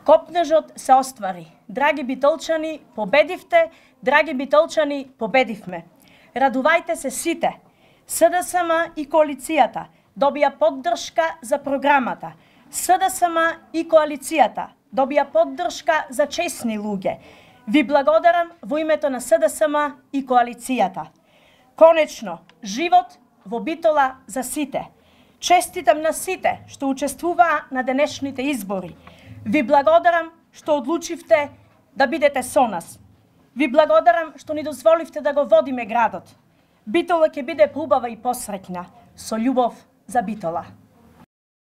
Копнежот се оствари. Драги битолчани, победивте, драги битолчани, победивме. Радувајте се сите. СДСМ и коалицијата добија поддршка за програмата. СДСМ и коалицијата добија поддршка за честни луѓе. Ви благодарам во името на СДСМ и коалицијата. Конечно, живот во Битола за сите. Честитам на сите што учествуваа на денешните избори. Ви благодарам што одлучивте да бидете со нас. Ви благодарам што ни дозволивте да го водиме градот. Битола ќе биде поубава и посреќна. Со љубов за Битола.